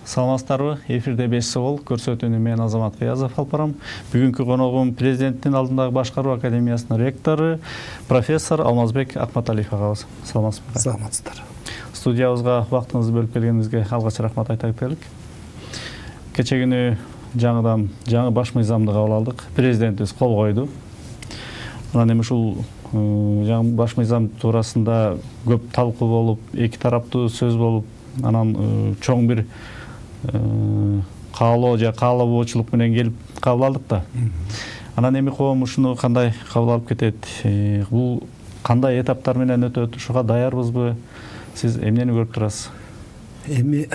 Саламатсыздарбы? Эфирде 5 согол көрсөтүүнү мен Азамат Кыязов алып барам. Бүгүнкү коногум президенттин алдындагы башкаруу академиясынын ректору, профессор Алмазбек Акматалиев агабыз. Саламатсызбы? Саламатсыздар. Студиябызга убактыңызды бөлүп келгениңизге алгач рахмат айта кетелик. Кече күнү жаңы баш мыйзамды кабыл алдык. Президентибиз кол койду. Анан эми ушул жаңы баш мыйзам туурасында көп талкуу болуп, эки тараптуу сөз болуп, анан чоң бир каалоо же каалабоочулук менен келип кабыл алдык да. Анан эми коом ушуну кандай кабыл алып кетет? Бул кандай этаптар менен өтөт? Ушуга даярбызбы? Сиз эмнени көрүп турасыз? Эми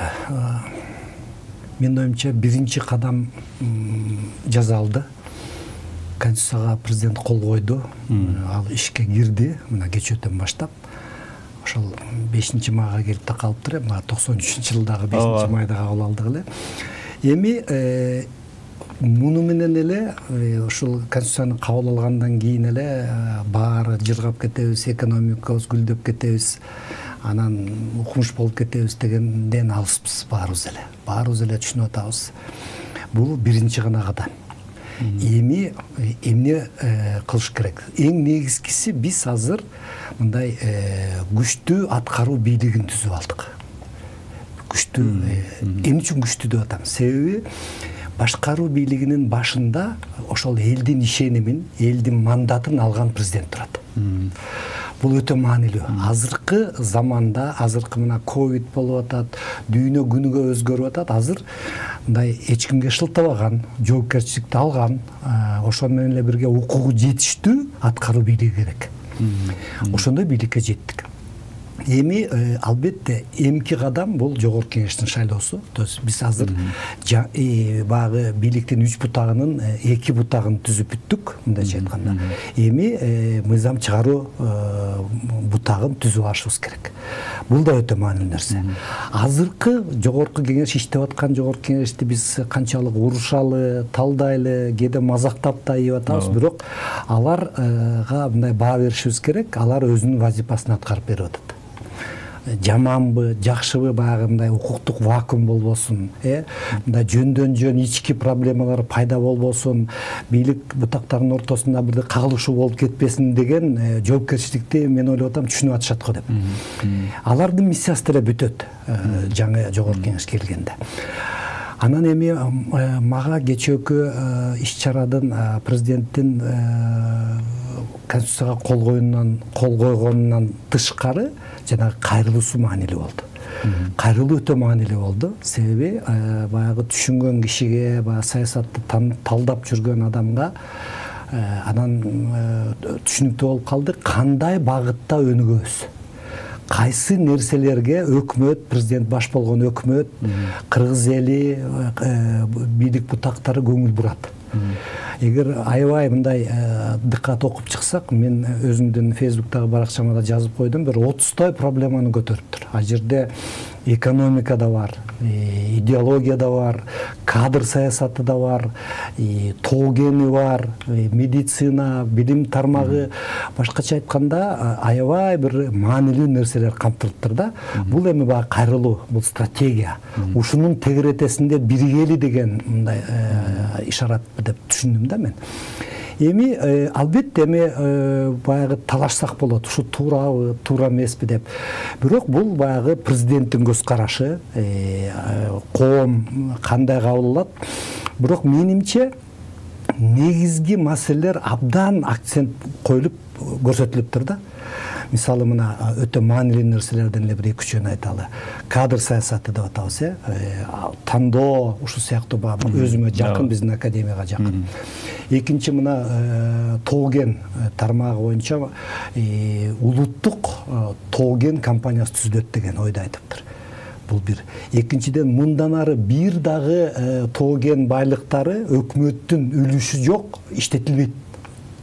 менин оюмча биринчи кадам жасалды. Конституцияга президент кол койду. Ал ишке кирди. Мына кечөөтөн баштап. Ошол 5-майга келип такалыптыр. 93-жылдагы 5-майда кабыл алдык эле. Эми муну менен эле ушул конституцияны кабыл алгандан кийин эле баары жыргап кетебиз, экономикабыз гүлдөп кетебиз, анан укмуш болуп кетебиз дегенден алыспыз баарыбыз эле. Баарыбыз эле түшүнүп атабыз. Бул биринчи гана кадам. Эми эмне кылыш керек? Эң негизгиси биз азыр мындай күчтүү аткаруу бийлигин түзүп алдык. Күчтүү эмне үчүн күчтүү деп атам? Себеби башкаруу бийлигинин башында ошол элдин ишенимин, элдин мандатын алган президент турат. Бул өтө маанилүү. Азыркы заманда, азыркы мына ковид болуп атат, дүйнө күнүгө өзгөрүп атат. Азыр мындай эч кимге шылтабаган, жоопкерчиликти алган, ошол менен эле бирге укугу жетиштүү аткаруу бийлиги керек. Ошондой бийликке жеттик. Эми албетте эмки кадам бул жогорку кеңештин шайлоосу. То есть биз азыр багы бийликтин 3 бутагынын 2 бутагын түзүп бүттүк, мындайча айтканда. Эми мыйзам чыгаруу бутагын түзүп алышыбыз керек. Бул да өтө маанилүү нерсе. Азыркы жогорку кеңеш иштеп аткан жогорку кеңешти биз канчалык урушалы, талдайлы, кээде мазактап да ийип атабыз, бирок аларга мындай баа беришибиз керек. Алар өзүнүн вазифасын аткарып берип атат. Жаманбы, жакшыбы баягы мындай укуктук вакуум болбосун, мындай жөндөн-жөн ички проблемалар пайда болбосун, бийлик бутактарынын ортосунда бир кагылышуу болуп кетпесин деген жоопкерчиликти мен ойлоп атам түшүнүп атышат го деп. Алардын миссиясы деле бүтөт жаңы жогорку кеңеш келгенде. Анан эми мага кечээкү иш-чарадын президенттин конституцияга кол койгонунан тышкары жанагы кайрылуусу маанилүү болду. Кайрылуу өтө маанилүү болду. Себеби баягы түшүнгөн кишиге, баягы саясатты талдап жүргөн адамга анан түшүнүктүү болуп калды кандай багытта өнүгөбүз. Кайсы нерселерге өкмөт, президент баш болгон өкмөт, кыргыз эли, бийлик бутактары көңүл бурат. Эгер аябай мындай дыккат окуп чыксак, мен өзүмдүн Фейсбуктагы баракчама да жазып койдум, бир 30той проблеманы көтөрүптүр. А жерде экономика да бар, идеология да бар, кадр саясаты да бар, тоогени бар, медицина, билим тармагы, башкача айтканда аябай бир маанилүү нерселер камтылыптыр да. Бул эми баягы кайрылуу, бул стратегия. Ушунун тегеретесинде биригели деген мындай ишарат деп түшүндүм да мен. Эми албетте эми баягы талашсак болот, ушу туурабы, туура эмеспи деп. Бирок бул баягы президенттин көз карашы, коом кандай кабыл алат. Бирок менимче негизги маселелер абдан акцент коюлуп көрсөтүлүптүр да. Мисалы мына өтө маанилүү нерселерден эле бир 2-3 айталы. Кадр саясаты деп атабыз, тандоо ушу сыяктуу өзүмө жакын, биздин академияга жакын. Экинчи мына тооген тармагы боюнча улуттук тооген компаниясы түзүлөт деген ойду айтыптыр. Бул бир. Экинчиден мындан ары бир дагы тооген байлыктары өкмөттүн үлүшү жок, иштетилбейт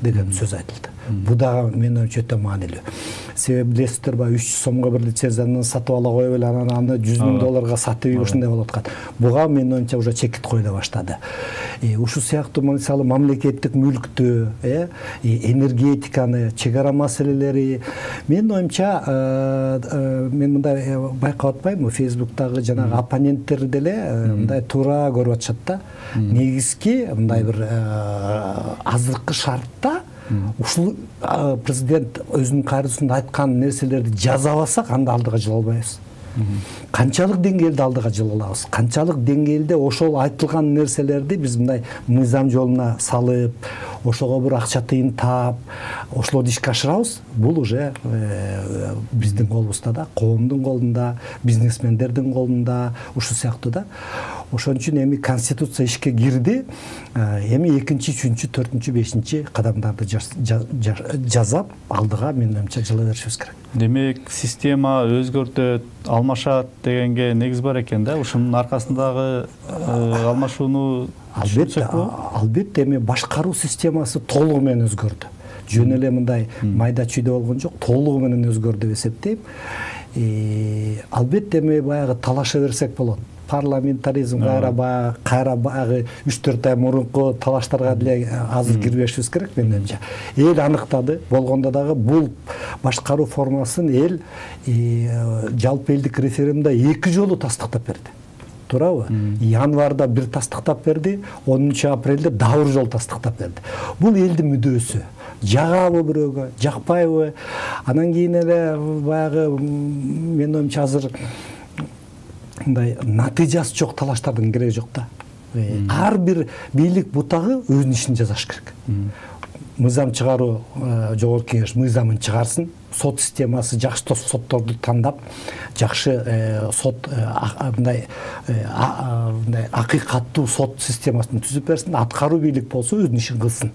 деген сөз айтылды. Бул дагы менин оюмча өтө маанилүү. Себеби билесиздер, 300 сомго бир лицензияны сатып ала коюп эле анан аны 100 000 долларга сатып ушундай болуп аткан. Буга менин оюмча уже чекит коюла баштады. Ушул сыяктуу мисалы мамлекеттик мүлктү, энергетиканы, чек ара маселелери менин оюмча мен мындай байкап атпаймынбы, Facebook'тагы жанагы оппоненттер деле мындай туура көрүп атышат да. Негизги мындай бир азыркы шартта ушул президент өзүнүн кайрысында айткан нерселерди жазабасак, анда алдыга жыла албайбыз. Канчалык деңгээлде алдыга жыла алабыз, канчалык деңгээлде ошол айтылган нерселерди биз мындай мыйзам жолуна салып, ошого бир акча тыйын таап, ошолорду ишке ашырабыз, бул уже биздин колубузда да, коомдун колунда, бизнесмендердин колунда, ушул сыяктуу да. Ошон үчүн эми конституция ишке кирди, эми 2-чи, 3-чү, 4-чү, 5-чи кадамдарды жасап, алдыга менин оюмча жыла беришибиз керек. Демек, система өзгөртөт, алмашат дегенге негиз бар экен да. Ушунун аркасындагы алмашууну түшүнсөк болобу? Албетте, эми башкаруу системасы толугу менен өзгөрдү. Жөн эле мындай майда чүйдө болгон жок, толугу менен өзгөрдү деп эсептейм. Албетте, эми баягы талаша берсек болот. Парламентаризм кайра баягы 3-4 ай мурунку талаштарга деле азыр кирбешибиз керек менин оюмча. Эл аныктады, болгондо дагы бул башкаруу формасын эл жалпы элдик референдумда 2 жолу тастыктап берди. Туурабы? Январда бир тастыктап берди, 10-апрелде дагы бир жолу тастыктап берди. Бул элдин мүдөөсү. Жагабы бирөөгө, жакпайбы? Анан кийин эле баягы менин оюмча азыр мындай натыйжасы жок талаштардын кереги жок да. Ар бир бийлик бутагы өзүнүн ишин жасаш керек. Мыйзам чыгаруу, жогорку кеңеш мыйзамын чыгарсын, сот системасы жакшы сотторду тандап, жакшы сот мындай акыйкаттуу сот системасын түзүп берсин, аткаруу бийлик болсо өзүнүн ишин кылсын.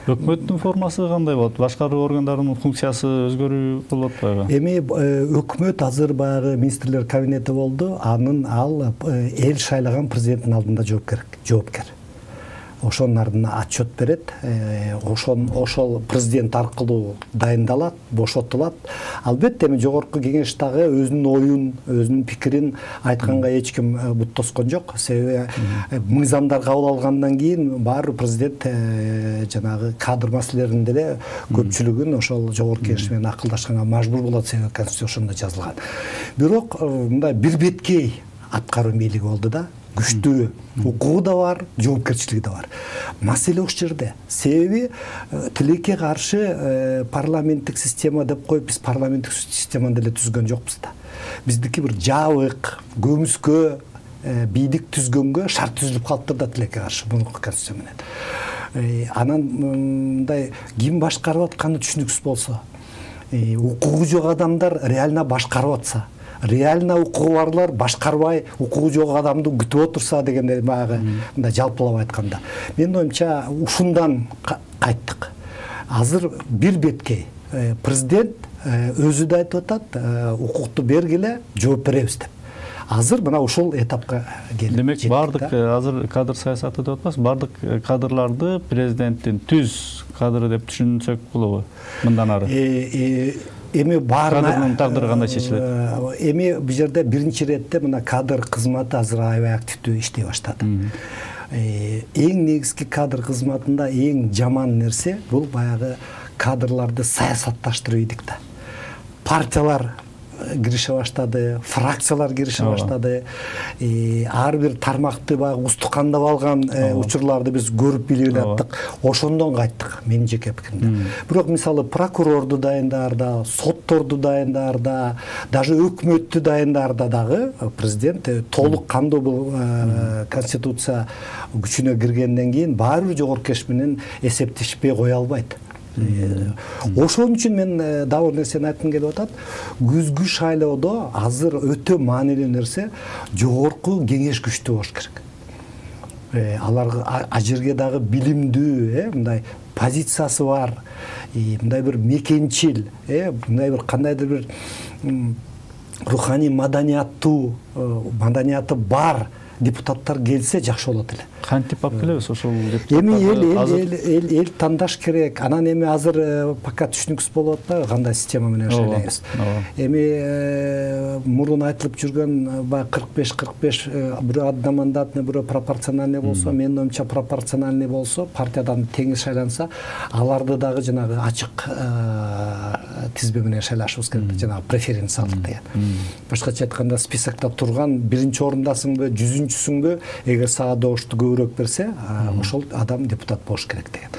Өкмөттүн формасы кандай болот? Башкаруу органдарынын функциясы өзгөрүү болот атпайбы? Эми өкмөт азыр баягы министрлер кабинети болду. Ал эл шайлаган президенттин алдында жоопкер. Ошонун ардына отчет берет. Ошол президент аркылуу дайындалат, бошотулат. Албетте эми жогорку кеңеш дагы өзүнүн оюн, өзүнүн пикирин айтканга эч ким бут тоскон жок. Себеби мыйзамдар кабыл алгандан кийин баары президент жанагы кадр маселелеринин деле көпчүлүгүн ошол жогорку кеңеш менен акылдашканга мажбур болот, себеби конституцияда жазылган. Бирок мындай бир беткей аткаруу бийлиги болду да. Күчтүү укугу да бар, жоопкерчилиги да бар. Маселе ошол жерде. Себеби тилекке каршы парламенттик система деп коюп, биз парламенттик системаны деле түзгөн жокпуз да. Биздики бир жабык, көмүскө бийлик түзгөнгө шарт түзүлүп калыптыр да тилекке каршы мурунку конституция менен. Анан мындай ким башкарып атканы түшүнүксүз болсо, укугу жок адамдар реально башкарып атса, реально укугу барлар башкарбай укугу жок адамды күтүп отурса дегенде баягы мындай жалпылап айтканда. Менин оюмча ушундан кайттык. Азыр бир беткей президент өзү да айтып атат, укукту бергиле, жооп беребиз деп. Азыр мына ушул этапка келип. Демек, бардык азыр кадр саясаты деп атпайсыз, бардык кадрларды президенттин түз кадры деп түшүнсөк болобу мындан ары? Эми кадрдын тагдыры кандай чечилет? Эми бул жерде биринчи иретте мына кадр кызматы азыр аябай активдүү иштей баштады. Эң негизги кадр кызматында эң жаман нерсе бул баягы кадрларды саясатташтырып ийдик да. Партиялар кирише баштады, фракциялар кирише баштады. Ар бир тармакты баягы устукандап алган учурларды биз көрүп билип аттык. Ошондон кайттык, менин жеке пикиримде. Бирок мисалы прокурорду дайындаарда, сотторду дайындаарда, даже өкмөттү дайындаарда дагы президент толук кандуу бул конституция күчүнө киргенден кийин баары бир жогорку кеңеш менен эсептешпей кое албайт. Ошон үчүн мен дагы бир нерсени айткым келип атат. Күзгү шайлоодо азыр өтө маанилүү нерсе жогорку кеңеш күчтүү болуш керек. Алар ажерге дагы билимдүү, мындай позициясы бар, мындай бир мекенчил, мындай бир кандайдыр бир руханий маданияты бар депутаттар келсе жакшы болот эле. Кантип алып келебиз ошол эми эл тандаш керек. Анан эми азыр пока түшүнүксүз болуп атпайбы кандай система менен шайлайбыз. Эми мурун айтылып жүргөн баягы 45 бирөө одномандатный, бирөө пропорциональный болсо, менин оюмча пропорциональный болсо, партиядан теңиз шайланса, аларды дагы жанагы ачык тизме менен шайлашыбыз керек, жанагы преференциялык деген. Башкача айтканда списокто турган биринчи орундасыңбы, 100-сүңбү, эгер сага добушту көбүрөөк берсе, ошол адам депутат болуш керек деген.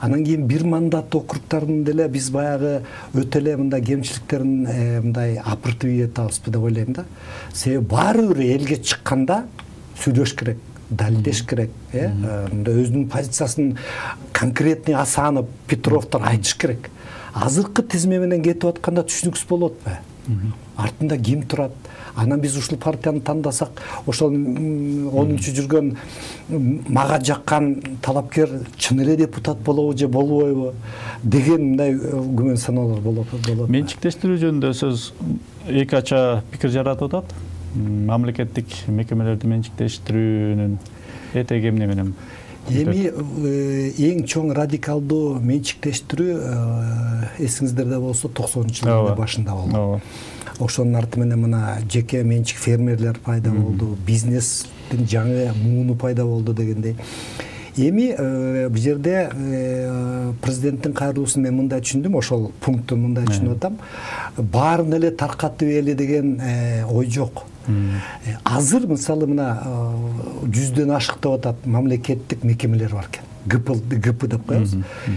Анан кийин бир мандат округдарын деле биз баягы өтө эле мындай кемчиликтерин мындай апыртып ийетабызбы деп ойлойм да. Себеби баары бир элге чыкканда сүйлөш керек, далилдеш керек, өзүнүн позициясын конкретный асанып, Петровдор айтыш керек. Азыркы тизме менен кетип атканда түшүнүксүз болуп атпайбы? Артында ким турат? Анан биз ушул партияны тандасак, ошол 10-чу жүргөн мага жаккан талапкер чын эле депутат болобу же болбойбу деген мындай күмөн саноолор болот. Менчиктештирүү жөнүндө сөз эки ача пикир жаратып атат. Мамлекеттик мекемелерди менчиктештирүүнүн этеги эмне менен? Эми эң чоң радикалдуу менчиктештирүү эсиңиздерде болсо 90-жылдардын башында болду. Ошонун арты менен мына жеке менчик фермерлер пайда болду, бизнестин жаңы мууну пайда болду дегендей. Эми бул жерде президенттин кайрылуусун мен мындай түшүндүм, ошол пунктту мындай түшүнүп атам. Баарын эле таркатып эле деген ой жок. Азыр мисалы мына 100дөн ашык деп атат мамлекеттик мекемелер бар экен. ГП деп коебуз.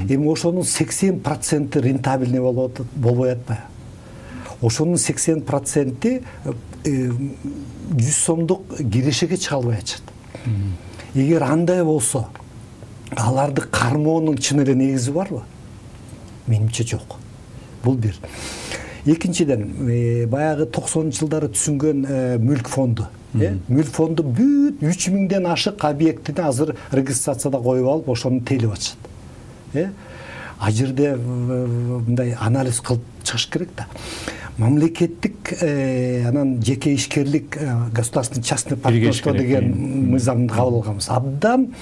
Эми ошонун 80% рентабельный болбой атпайбы? Ошонун 80% 100 сомдук кирешеге чыга албай атышат. Эгер андай болсо, аларды кармоонун чын эле негизи барбы? Менимче жок. Бул бир. Экинчиден, баягы 90-жылдары түзүнгөн мүлк фонду. Мүлк фонду бүт 3000ден ашык объектини азыр регистрацияда коюп алып, ошону тейлеп атышат. А жерде мындай анализ кылып чыгыш керек да. Мамлекеттик анан жеке ишкерлик, государственный частный партнерство деген мыйзамды кабыл алганбыз. Абдан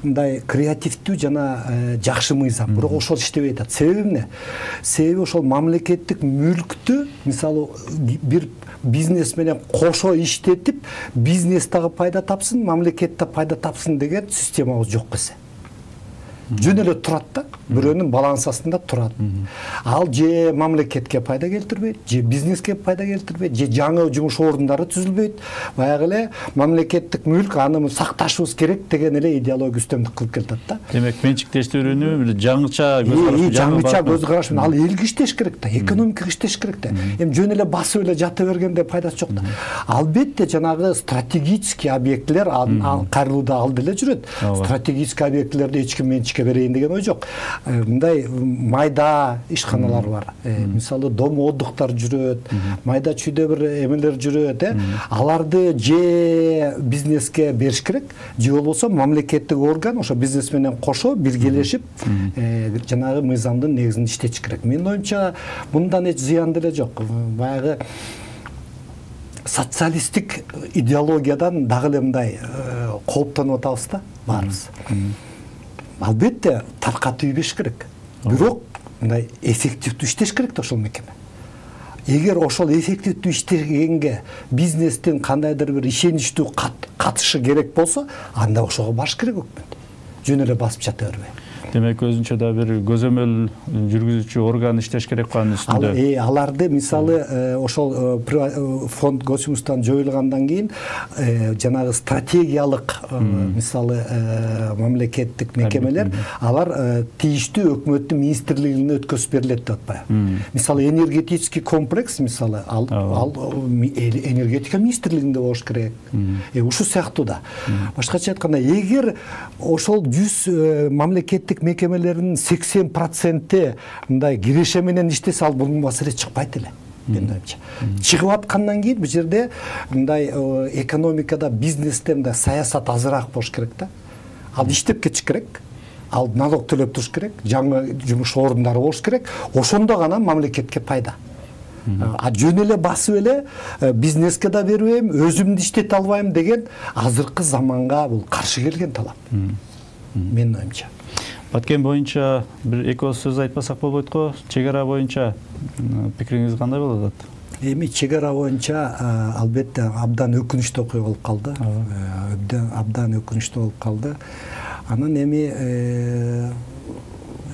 мындай креативдүү жана жакшы мыйзам. Бирок ошол иштебей атат. Себеби эмне? Себеби ошол мамлекеттик мүлктү, мисалы, бир бизнес менен кошо иштетип, бизнес дагы пайда тапсын, мамлекет да пайда тапсын деген системабыз жок эсе. Жөн эле турат да, бирөөнүн балансасында турат. Ал же мамлекетке пайда келтирбейт, же бизнеске пайда келтирбейт, же жаңы жумуш орундары түзүлбөйт. Баягы эле мамлекеттик мүлк аны сакташыбыз керек деген эле идеология үстөмдүк кылып келатат да. Демек, менчиктештирүүнү жаңыча көз караш менен ал элге иштеш керек да, экономикага иштеш керек да. Эми жөн эле басып эле жата бергенде пайдасы жок да. Албетте жанагы стратегический объектилер кайрылууда ал деле жүрөт. Стратегический объектилерди эч ким менчикке берейин деген ой жок. Мындай майда ишканалар бар. Мисалы дом отдыхтар жүрөт, майда чүйдө бир эмелер жүрөт, аларды же бизнеске бериш керек, же болбосо мамлекеттик орган ошо бизнес менен кошо биргелешип жанагы мыйзамдын негизинде иштетиш керек. Менин оюмча мындан эч зыян деле жок. Баягы социалисттик идеологиядан дагы эле мындай кооптонуп атабыз да баарыбыз. Албетте таркатып ийбеш керек. Бирок мындай эффективдүү иштеш керек да ошол мекеме. Эгер ошол эффективдүү иштегенге бизнестин кандайдыр бир ишеничтүү катышы керек болсо, анда ошого баш керек өкмөт. Жөн эле басып жата бербей. Демек, өзүнчө да бир көзөмөл жүргүзүүчү орган иштеш керек анын үстүндө. Аларды мисалы ошол фонд государстводан жоюлгандан кийин жанагы стратегиялык мисалы мамлекеттик мекемелер алар тийиштүү өкмөттүн министрлигине өткөзүп берилет деп атпайбы? Мисалы энергетический комплекс, мисалы ал энергетика министрлигинде болуш керек. Ушул сыяктуу да. Башкача айтканда, эгер ошол 100 мамлекеттик мекемелеринин 80% мындай киреше менен иштесе, ал бул маселе чыкпайт эле. Менин оюмча. Чыгып аткандан кийин бул жерде мындай экономикада, бизнесте мындай саясат азыраак болуш керек да. Ал иштеп кетиш керек. Ал налог төлөп туруш керек, жаңы жумуш орундары болуш керек. Ошондо гана мамлекетке пайда. Жөн эле басып эле бизнеске да бербейм, өзүмдү иштете албайм деген азыркы заманга бул каршы келген талап. Менин оюмча. Баткен боюнча бир эки ооз сөз айтпасак болбойт го. Чек ара боюнча пикириңиз кандай болуп атат? Эми чек ара боюнча албетте абдан өкүнүчтүү окуя болуп калды. Абдан өкүнүчтүү болуп калды. Анан эми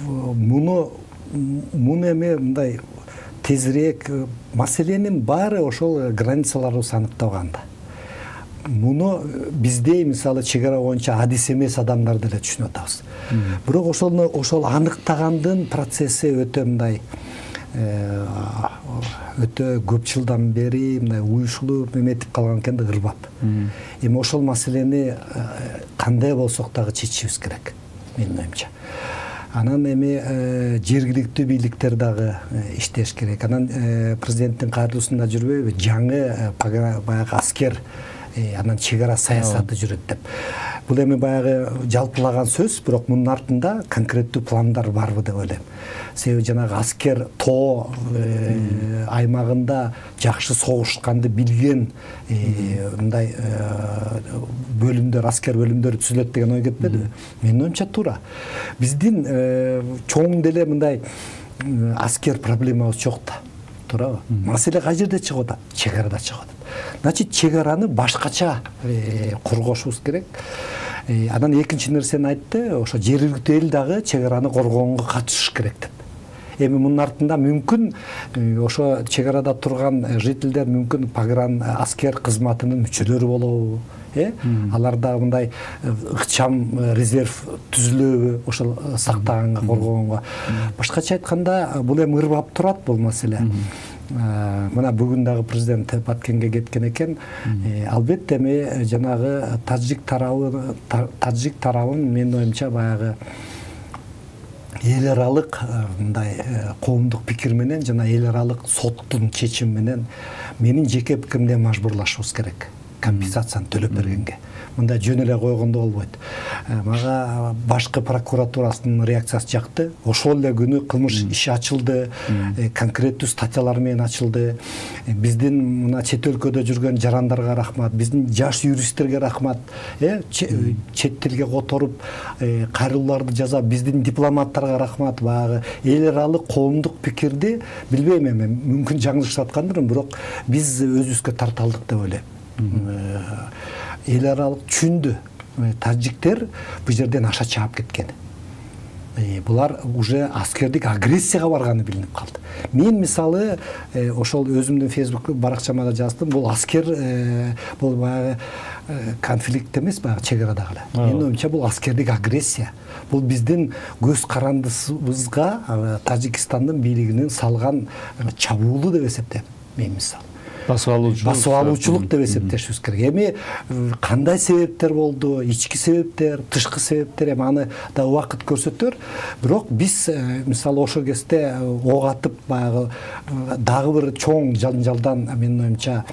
муну эми мындай тезирээк маселенин баары ошол границаларыбыз аныкталганда. Муну биздей мисалы чек ара боюнча адис эмес адамдар деле түшүнүп атабыз. Бирок ошол аныктагандын процесси өтө мындай өтө көп жылдан бери мындай уюшулуп эметип калган экен да, ырбап. Эми ошол маселени кандай болсок дагы чечишибиз керек, менин оюмча. Анан эми жергиликтүү бийликтер дагы иштеш керек. Анан президенттин каардуусунда жүрбөйбү? Жаңы баягы аскер анан чек ара саясаты жүрөт деп. Бул эми баягы жалпылаган сөз, бирок мунун артында конкреттүү пландар барбы деп ойлойм. Себеби жанагы аскер тоо аймагында жакшы согушканды билген мындай бөлүмдөр, аскер бөлүмдөрү түзүлөт деген ой кетпедиби? Менин оюмча туура. Биздин чоң деле мындай аскер проблемабыз жок да. Туурабы? Маселе кай жерде чыгып атат? Чек арада чыгып атат. Значит, чек араны башкача коргошубуз керек. Анан экинчи нерсени айтты, ошо жергиликтүү эл дагы чек араны коргоонго катышыш керек деп. Эми мунун артында мүмкүн ошо чек арада турган жителдер мүмкүн погран аскер кызматынын мүчөлөрү болобу? Алар дагы мындай ыкчам резерв түзүлөбү ошол сактаганга, коргоонго. Башкача айтканда, бул эми ырбап турат бул маселе. Мына бүгүн дагы президент Баткенге кеткен экен. Албетте эми жанагы таджик тарабын менин оюмча баягы эл аралык мындай коомдук пикир менен жана эл аралык соттун чечими менен менин жеке пикиримде мажбурлашыбыз керек. Компенсацияны төлөп бергенге. Мындай жөн эле койгондо болбойт. Мага башкы прокуратурасынын реакциясы жакты. Ошол эле күнү кылмыш иши ачылды, конкреттүү статьялар менен ачылды. Биздин мына чет өлкөдө жүргөн жарандарга рахмат, биздин жаш юристтерге рахмат. Чет тилге которуп, кайрылууларды жазап, биздин дипломаттарга рахмат. Баягы эл аралык коомдук пикирди билбейм эми, мүмкүн жаңылышып аткандырмын, бирок биз өзүбүзгө тарта алдык деп ойлойм. Эл аралык түшүндү. Таджиктер бул жерден аша чаап кеткен. Булар уже аскердик агрессияга барганы билинип калды. Мен мисалы ошол өзүмдүн Facebook баракчама да жаздым. Бул аскер бул баягы конфликт эмес, баягы чек арадагы эле. Менин оюмча бул аскердик агрессия. Бул биздин көз карандысыбызга Тажикстандын бийлигинин салган чабуулу деп эсептейм. Мен мисалы басып алуучулук деп эсептешибиз керек. Эми кандай себептер болду, ички себептер, тышкы себептер, эми аны да убакыт көрсөтөр. Бирок биз мисалы ошол кезде ок атып баягы дагы бир чоң жалдан менин оюмча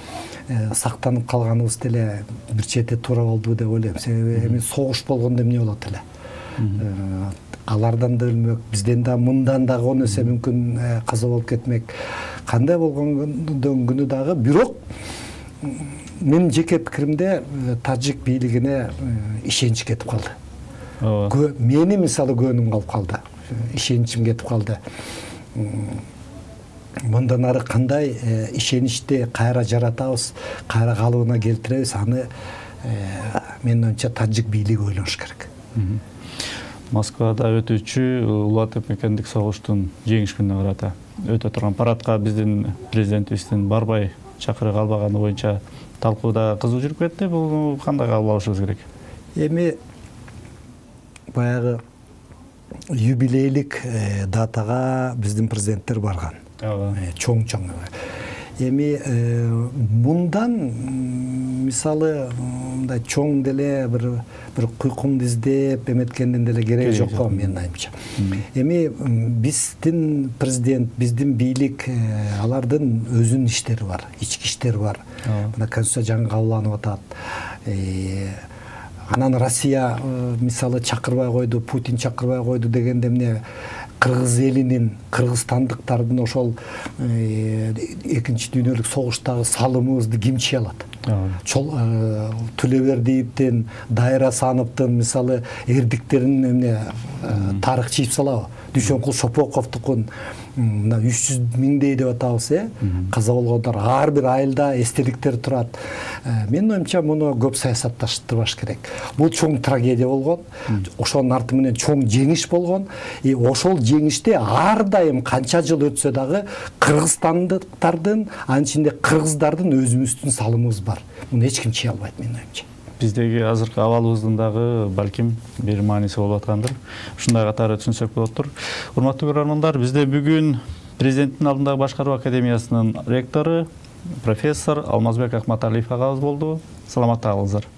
сактанып калганыбыз деле бир чети туура болду деп ойлойм. Себеби эми согуш болгондо эмне болот эле? Алардан да өлмөк, бизден да мындан дагы 10 эсе мүмкүн каза болуп кетмек. Кандай болгондон күнү дагы, бирок менин жеке пикиримде таджик бийлигине ишенич кетип калды. Мени мисалы көөнүм калып калды, ишеничим кетип калды. Мындан ары кандай ишеничти кайра жаратабыз, кайра калыбына келтиребиз, аны менин оюмча таджик бийлиги ойлош керек. Москвада өтүүчү улуттук мекендик согуштун жеңиш күнүнө карата өтө турган парадка биздин президентибиздин барбай чакырык албаганы боюнча талкууда кызуу жүрүп кетти. Бул кандай кабыл алышыбыз керек? Эми баягы юбилейлик датага биздин президенттер барган. Чоң-чоң. Эми мындан мисалы мындай чоң деле бир куйкумду издеп эметкендин деле кереги жок го менин оюмча. Эми биздин президент, биздин бийлик, алардын өзүнүн иштери бар, ички иштери бар. Мына конституция жаңы кабылданып атат. Анан Россия мисалы чакырбай койду, Путин чакырбай койду дегенде эмне кыргыз элинин, кыргызстандыктардын ошол экинчи дүйнөлүк согуштагы салымыбызды ким чыя алат? Төлөбердиевдин, Дайра Сановдун мисалы эрдиктерин эмне тарых чийип салабы? Дүйшөнкул Шопоковдукун мына 300 миңдей деп атабыз, каза болгондор ар бир айылда эстеликтер турат. Менин оюмча муну көп саясатташтырбаш керек. Бул чоң трагедия болгон, ошонун арты менен чоң жеңиш болгон. Ошол жеңиште ар дайым канча жыл өтсө дагы кыргызстандыктардын, анын ичинде кыргыздардын өзүбүздүн салымыбыз бар. Муну эч ким чыя албайт менин оюмча. Биздеги азыркы абалыбыздын дагы балким бир мааниси болуп аткандыр. Ушундай катары түшүнсөк болоттур. Урматтуу көрөрмандар, бизде бүгүн президенттин алдындагы башкаруу академиясынын ректору, профессор Алмазбек Акматалиев агабыз болду. Саламатта калыңыздар.